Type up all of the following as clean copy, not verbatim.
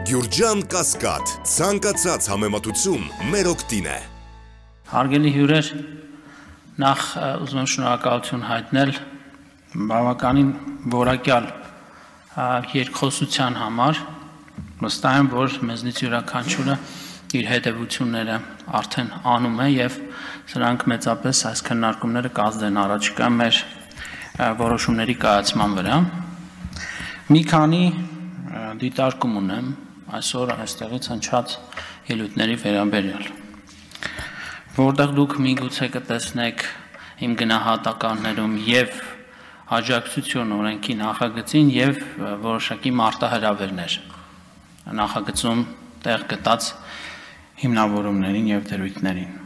Գյուրջան Կասկադ, ցանկացած համեմատություն մեր օգտին է։ Հարգելի հյուրեր, նախ ուզում եմ շնորհակալություն հայտնել բավականին որակյալ երկխոսության համար, վստահ եմ, որ մեզնից յուրաքանչյուրը իր հետևությունները արդեն անում է եւ սրանք մեծապես այս քննարկումները կազդեն առաջիկա մեր որոշումների կայացման վրա։ Մի քանի դիտարկում ունեմ այսօր այստեղից հնչած ելույթների վերաբերյալ, որտեղ դուք միգուցե կտեսնեք իմ գնահատականներում եւ աջակցություն օրենքի նախագծին եւ որոշակի մարտահրավերներ նախագծում տեղ գտած հիմնավորումներին եւ դրույթներին։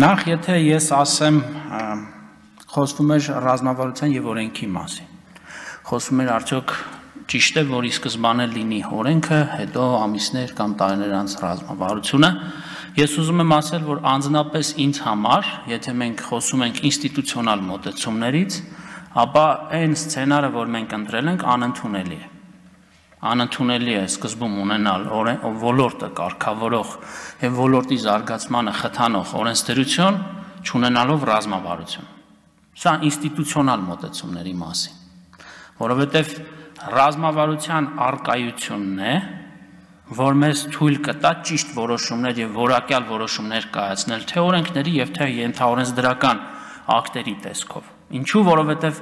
Նախ եթե ես ասեմ խոսվում էր ռազմավարության եւ օրենքի մասին, խոսվում էր արդյոք ճիշտ է, որ ի սկզբանե լինի օրենքը, հետո ամիսներ կամ տարիներ անց ռազմավարությունը, ես ուզում եմ ասել, որ անձնապես ինձ համար, եթե մենք խոսում ենք ինստիտուցիոնալ մոտեցումներից, ապա այն սցենարը, որ մենք ընտրել ենք, անընդունելի է։ Անընդունելի է սկզբում ունենալ ոլորտը կարգավորող եւ ոլորտի զարգացմանը խթանող օրենսդրություն, չունենալով ռազմավարություն։ Սա ինստիտուցիոնալ մոտեցումների մասին, որովհետեւ ռազմավարության առկայությունն է, որ մեզ թույլ կտա ճիշտ որոշումներ եւ որակյալ որոշումներ կայացնել թե օրենքների եւ թե ենթաօրենսդրական ակտերի տեսքով։ Ինչու, որովհետեւ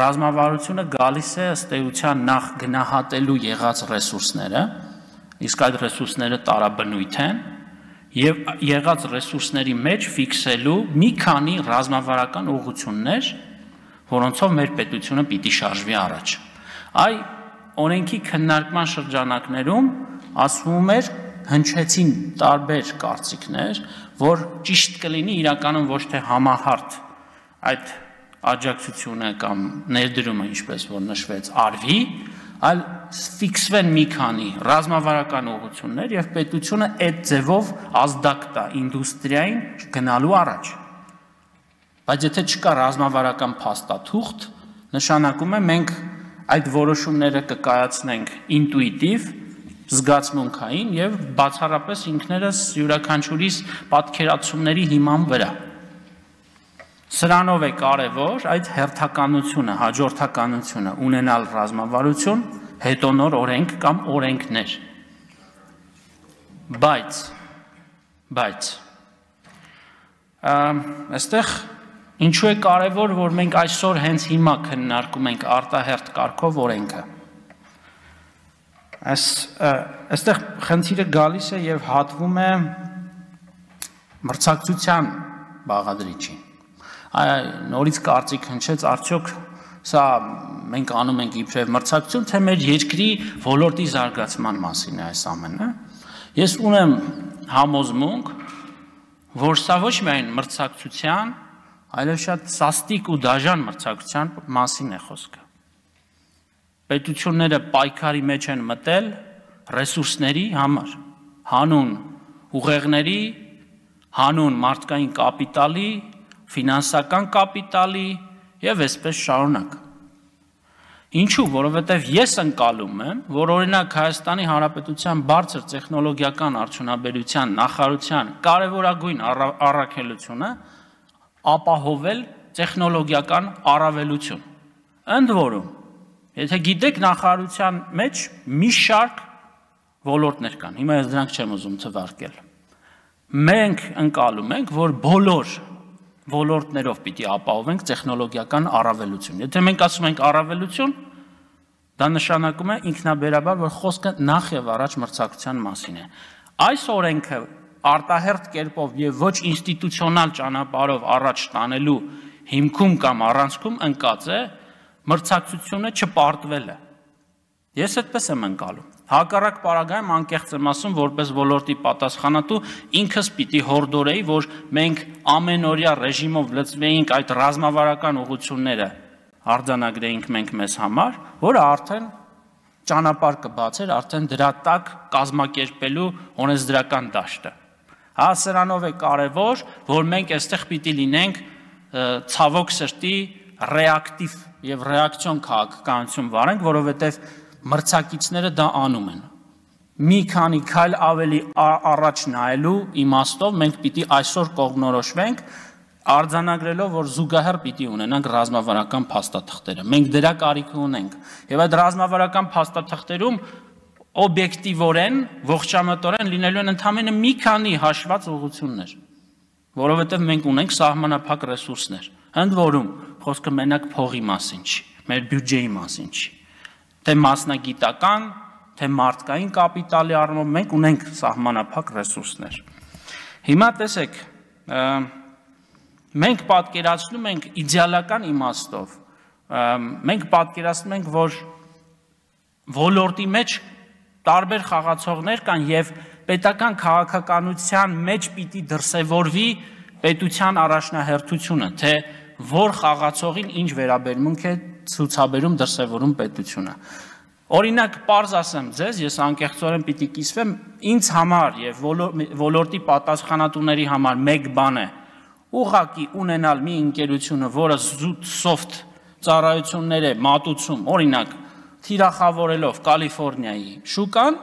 ռազմավարությունը գալիս է ըստ էության նախ գնահատելու եղած ռեսուրսները, իսկ այդ ռեսուրսները տարաբնույթ են եւ եղած ռեսուրսների մեջ ֆիքսելու մի քանի ռազմավարական ուղղություններ, որոնցով մեր պետությունը պիտի շարժվի առաջ։ Այ օրենքի քննարկման շրջանակներում ասվում էր, հնչեցին տարբեր կարծիքներ, որ ճիշտ կլինի իրականում ոչ թե համահարթ այդ աջակցությունը կամ ներդրումը, ինչպես որ նշվեց, արվի, այլ ֆիքսվեն մի քանի ռազմավարական ուղղություններ եւ պետությունը այդ ձևով ազդակ տա ինդուստրիային գնալու առաջ։ Բայց եթե չկա ռազմավարական փաստաթուղթ, նշանակում է մենք այդ որոշումները կկայացնենք ինտուիտիվ, զգացմունքային եւ բացառապես ինքներս յուրաքանչյուրիս պատկերացումների հիման վրա։ Սրանով է կարևոր այդ հերթականությունը, հաջորդականությունը ունենալ ռազմավարություն, հետո նոր օրենք կամ օրենքներ։ Բայց այստեղ ինչու է կարևոր, որ մենք այսօր հենց հիմա քննարկում ենք արտահերթ կարգով օրենքը։ Այստեղ խնդիրը գալիս է եւ հատվում է մրցակցության բաղադրիչին։ Նորից կարծիք հնչեց, արդյոք սա մենք անում ենք իբրև մրցակցություն, թե մեր երկրի ոլորտի զարգացման մասին է այս ամենը։ Ես ունեմ համոզմունք, որ սա ոչ միայն մրցակցության, այլև շատ սաստիկ ու դաժան մրցակցության մասին է խոսքը։ Պետությունները պայքարի մեջ են մտել ռեսուրսների համար, հանուն ուղեղների, հանուն մարդկային կապիտալի, ֆինանսական կապիտալի եւ այսպես շարունակ։ Ինչու, որովհետեւ ես ընկալում եմ, որ օրինակ Հայաստանի Հանրապետության բարձր տեխնոլոգիական արդյունաբերության նախարարության կարևորագույն առաքելությունը ապահովել տեխնոլոգիական առավելություն։ Ընդ որում, եթե գիտեք, նախարարության մեջ մի շարք ոլորտներ կան։ Հիմա ես դրանք չեմ ուզում թվարկել։ Մենք ընկալում ենք, որ բոլոր ոլորտներով պիտի ապահովենք տեխնոլոգիական առավելություն։ Եթե մենք ասում ենք առավելություն, դա նշանակում է ինքնաբերաբար, որ խոսքը նախ եւ առաջ մրցակցության մասին է։ Այս օրենքը արտահերթ կերպով եւ ոչ ինստիտուցիոնալ ճանապարհով առաջ տանելու հիմքում կամ առանցքում ընկած է մրցակցությունը չպարտվելը։ Ես այդպես եմ ընկալում։ Հակառակ պարագայում անկեղծ եմ ասում, որպես ոլորտի պատասխանատու ինքս պիտի հորդորեի, որ մենք ամենօրյա ռեժիմով լծվեինք այդ ռազմավարական ուղղությունները արձանագրեինք մենք մեզ համար, որը արդեն ճանապարհ կբացեր արդեն դրա տակ կազմակերպելու օրենսդրական դաշտը։ Հա, սրանով է կարևոր, որ մենք այստեղ պիտի լինենք ցավոք սրտի ռեակտիվ եւ ռեակցիոն քաղաքականություն վարենք, որովհետեւ մրցակիցները դա անում են։ մի քանի քայլ ավելի առաջ նայելու իմաստով մենք պիտի այսօր կողմնորոշվենք արձանագրելով, որ զուգահեռ պիտի ունենանք ռազմավարական փաստաթղթերը։ Մենք դրա կարիքը ունենք։ Եվ այդ ռազմավարական փաստաթղթերում օբյեկտիվորեն, ողջամտորեն լինելու են ընդամենը մի քանի հաշված ուղղություններ, որովհետև մենք ունենք սահմանափակ ռեսուրսներ։ Ընդ որում, խոսքը մենակ փողի մասին չի, մեր բյուջեի մասին չի, թե մասնագիտական, թե մարդկային կապիտալի առումով մենք ունենք սահմանափակ ռեսուրսներ։ Հիմա տեսեք, մենք պատկերացնում ենք իդեալական իմաստով, մենք պատկերացնում ենք, որ ոլորտի մեջ տարբեր խաղացողներ կան եւ պետական քաղաքականության մեջ պիտի դրսևորվի պետության առաջնահերթությունը, թե որ խաղացողին ինչ վերաբերմունք է ցուցաբերում դրսևորում պետությունը։ Օրինակ, պարզ ասեմ ձեզ, ես անկեղծորեն պիտի կիսվեմ, ինձ համար եւ ոլորտի պատասխանատուների համար մեկ բան է ուղղակի ունենալ մի ընկերությունը, որը զուտ soft ծառայություններ է մատուցում, օրինակ, թիրախավորելով Կալիֆոռնիայի շուկան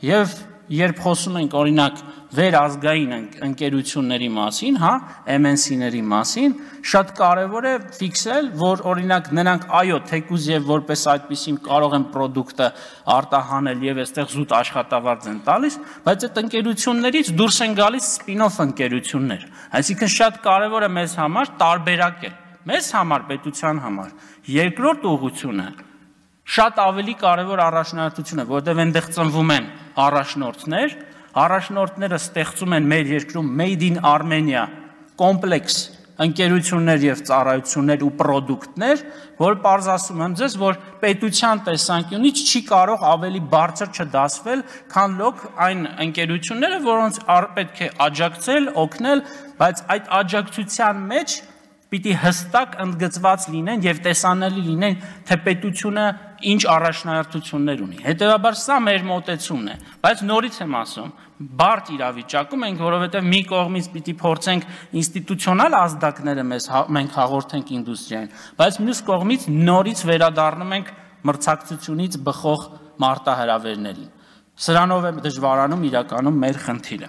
եւ երբ խոսում ենք օրինակ վերազգային ընկերությունների մասին, հա, MNC-ների մասին, շատ կարևոր է ֆիքսել, որ օրինակ նրանք այո, թեկուզ եւ որպես այդպեսին կարող են product-ը արտահանել եւ այստեղ զուտ աշխատավարձ են տալիս, բայց այդ ընկերություններից դուրս են գալիս spin-off ընկերություններ։ Այսինքն շատ կարևոր է մեզ համար տարբերակել, մեզ համար, պետության համար։ Երկրորդ ուղղությունը շատ ավելի կարևոր առաջնահերթություն է, որտեղ այնտեղ ծնվում են առաջնորդները ստեղծում են մեր երկրում Made in Armenia կոմպլեքս ընկերություններ եւ ծառայություններ ու պրոդուկտներ, որ պարզ ասում եմ ձեզ, որ պետության տեսանկյունից չի կարող ավելի բարձր չդասվել, քան լոկ այն ընկերությունները, որոնց պետք է աջակցել, օգնել, բայց այդ աջակցության մեջ պիտի հստակ ընդգծված լինեն եւ տեսանելի լինեն, թե պետությունը ինչ առաջնահերթություններ ունի։ Հետևաբար սա մեր մոտեցումն է, բայց նորից եմ ասում, բարդ իրավիճակում ենք, որովհետեւ մի կողմից պիտի փորձենք ինստիտուցիոնալ ազդակները մենք հաղորդենք ինդուստրիային, բայց մյուս կողմից նորից վերադառնում ենք մրցակցությունից բխող մարտահրավերներին։ Սրանով է դժվարանում իրականում մեր խնդիրը։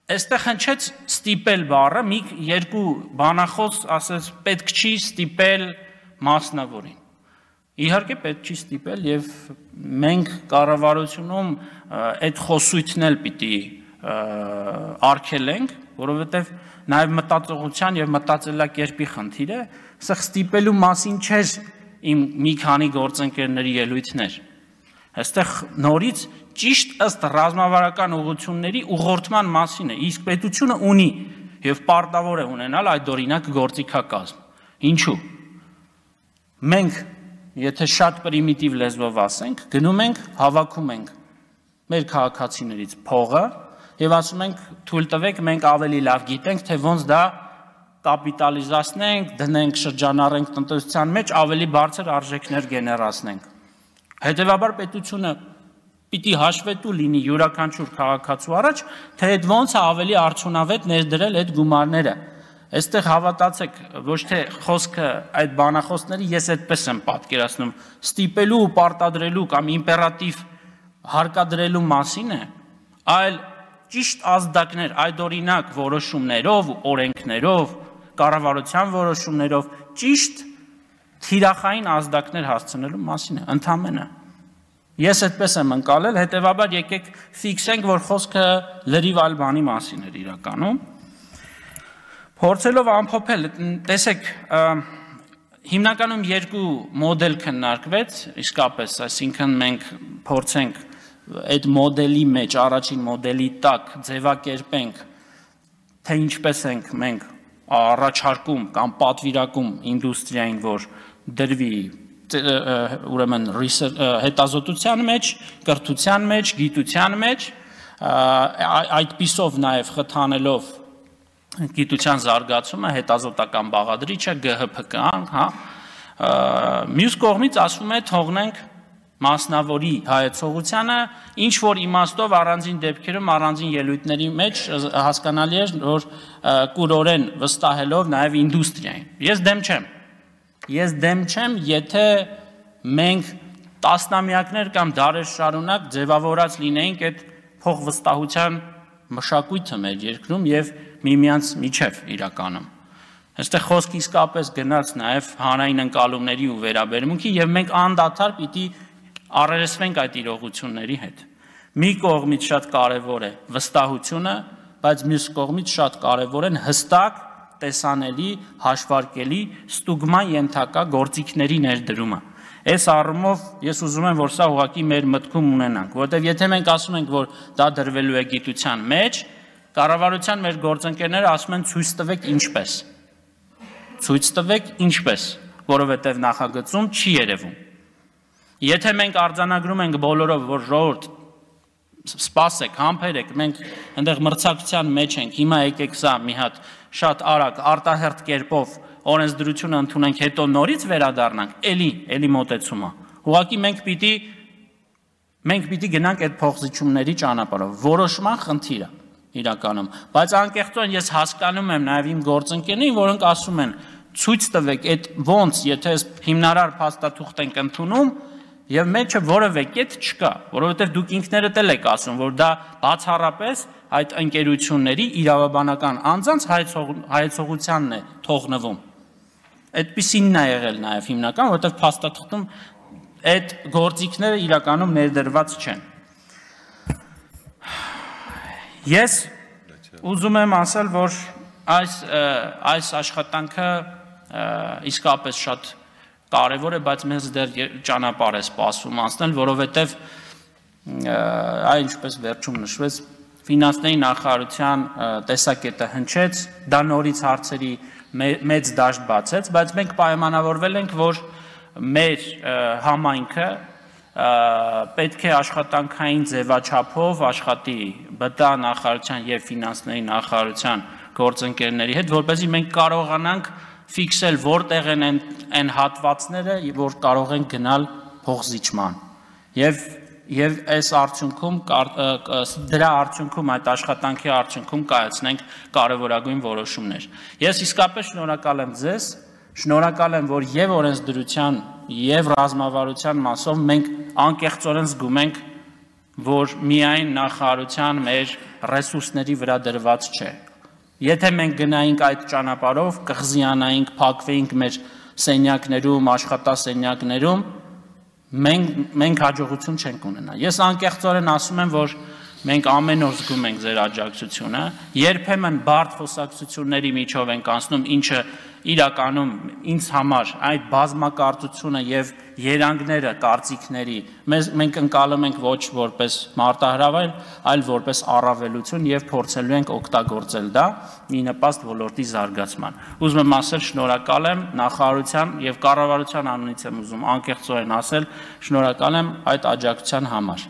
Այստեղ հնչեց ստիպել բառը, մի երկու բանախոս ասեց պետք չի ստիպել մասնավորին։ Իհարկե պետք չի ստիպել եւ մենք կառավարությունում այդ խոսույթն էլ պիտի արգելենք, որովհետեւ նաեւ մտածողության եւ մտածելակերպի խնդիր է, սա ստիպելու մասին չէր իմ մի քանի գործընկերների ելույթներ։ Այստեղ նորից ճիշտ ըստ ռազմավարական ուղղությունների ուղղորդման մասին է, իսկ պետությունը ունի եւ պարտավոր է ունենալ այդ օրինակ գործիքակազմ։ Ինչու՞։ Մենք, եթե շատ պրիմիտիվ լեզվով ասենք, գնում ենք, հավաքում ենք մեր քաղաքացիներից փողը եւ ասում ենք թույլ տվեք, մենք ավելի լավ գիտենք, թե ոնց դա կապիտալիզացնենք, դնենք, շրջանառենք տնտեսության մեջ, ավելի բարձր արժեքներ գեներացնենք։ Հետևաբար պետությունը պիտի հաշվետու լինի յուրաքանչյուր քաղաքացու առաջ, թե այդ ոնց է ավելի արդյունավետ ներդրել այդ գումարները։ Այստեղ հավատացեք, ոչ թե խոսքը այդ բանախոսների ես այդպես եմ պատկերացնում, ստիպելու ու պարտադրելու կամ իմպերատիվ հարկադրելու մասին է, այլ ճիշտ ազդակներ, այդ օրինակ որոշումներով, օրենքներով, կառավարության որոշումներով ճիշտ թիրախային ազդակներ հասցնելու մասին է, ընդամենը։ Ես այդպես եմ ընկալել, հետևաբար եկեք ֆիքսենք, որ խոսքը լրիվ այլ բանի մասին էր իրականում։ Փորձելով ամփոփել, տեսեք, հիմնականում երկու մոդել քննարկվեց, իսկապես, այսինքն մենք փորձենք այդ մոդելի մեջ, առաջին մոդելի տակ ձևակերպենք, թե ինչպես ենք մենք առաջարկում կամ պատվիրակում ինդուստրիային, որ դրվի ուրեմն հետազոտության մեջ, կրթության մեջ, գիտության մեջ, այդպիսով նաև խթանելով գիտության զարգացումը, հետազոտական բաղադրիչը, ԳՀՓԿ-ն, հա, մյուս կողմից ասում է թողնենք մասնավորի հայեցողությանը, ինչ որ իմաստով առանձին դեպքերում, առանձին ելույթների մեջ հասկանալի է, որ կուրորեն վստահելով նաև ինդուստրիային։ Ես դեմ չեմ, եթե մենք տասնամյակներ կամ դարեր շարունակ ձևավորած լինեինք այդ փոխվստահության մշակույթը մեր երկրում եւ միմյանց միջև իրականում։ Այստեղ խոսք իսկապես գնաց նաեւ հանրային ընկալումների ու վերաբերմունքի եւ մենք անդադար պիտի առերեսվենք այդ իրողությունների հետ։ Մի կողմից շատ կարևոր է վստահությունը, բայց մյուս կողմից շատ կարևոր են հստակ, տեսանելի, հաշվարկելի, ստուգման ենթակա գործիքների ներդրումը։ Այս առումով ես ուզում եմ, որ սա ուղղակի մեր մտքում ունենանք, որովհետև եթե մենք ասում ենք, որ դա դրվելու է գիտության մեջ, կառավարության մեր գործընկերները ասում են ցույց տվեք ինչպես։ Ցույց տվեք ինչպես, որովհետև նախագծում չի երևում։ Եթե մենք արձանագրում ենք բոլորով, որ ժողովուրդ սպասեք, համբերեք, մենք այնտեղ մրցակցության մեջ ենք, հիմա եկեք սա մի հատ շատ արագ արտահերթ կերպով օրենսդրությունը ընդունենք, հետո նորից վերադառնանք, էլի մոտեցումը։ Ուղղակի մենք պիտի գնանք այդ փոխզիջումների ճանապարհով, որոշման խնդիրը իրականում, բայց անկեղծորեն ես հասկանում եմ նաև իմ գործընկերներին, որոնք ասում են ցույց տվեք այդ ոնց, եթե հիմնարար փաստաթուղթ ենք ընդունում եւ մեջը որևէ կետ չկա, որովհետեւ դուք ինքներդ էլ եք ասում, որ դա բացառապես այդ ընկերությունների իրավաբանական անձանց հայեցողությանն է թողնվում։ Այդպիսինն է եղել նաև հիմնական, որովհետև փաստաթղթում այդ գործիքները իրականում ներդրված չեն։ Ես ուզում եմ ասել, որ այս աշխատանքը իսկապես շատ կարևոր է, բայց մեզ դեռ ճանապարհ է սպասում անցնել, որովհետև ինչպես վերջում նշվեց, ֆինանսների նախարարության տեսակետը հնչեց, դա նորից հարցերի մեծ դաշտ բացեց, բայց մենք պայմանավորվել ենք, որ մեր համայնքը պետք է աշխատանքային ձևաչափով աշխատի ԲՏԱ նախարարության եւ ֆինանսների նախարարության գործընկերների հետ, որպեսզի մենք կարողանանք ֆիքսել որտեղ են այն հատվածները, որ կարող են գնալ փոխզիջման եւ այս արդյունքում դրա արդյունքում այդ աշխատանքի արդյունքում կայացնենք կարևորագույն որոշումներ։ Ես իսկապես շնորհակալ եմ ձեզ, շնորհակալ եմ, որ եւ օրենսդրության եւ ռազմավարության մասով մենք անկեղծորեն զգում ենք, որ միայն նախարարության մեր ռեսուրսների վրա դրված չէ։ Եթե մենք գնայինք այդ ճանապարհով, կղզիանայինք, փակվեինք մեր սենյակներում, աշխատասենյակներում, մենք հաջողություն չենք ունենա։ Ես անկեղծորեն ասում եմ, որ մենք ամեն օր զգում ենք ձեր աջակցությունը, երբեմն բարդ խոսակցությունների միջով ենք անցնում, ինչը իրականում ինձ համար այդ բազմակարծությունը եւ երանգները կարծիքների մենք ընկալում ենք ոչ որպես մարտահրավեր, այլ որպես առավելություն եւ փորձելու ենք օգտագործել դա ի նպաստ ոլորտի զարգացման։ Ուզում եմ ասել շնորհակալ եմ նախարարության եւ կառավարության անունից եմ ուզում անկեղծորեն ասել շնորհակալ եմ այդ աջակցության համար։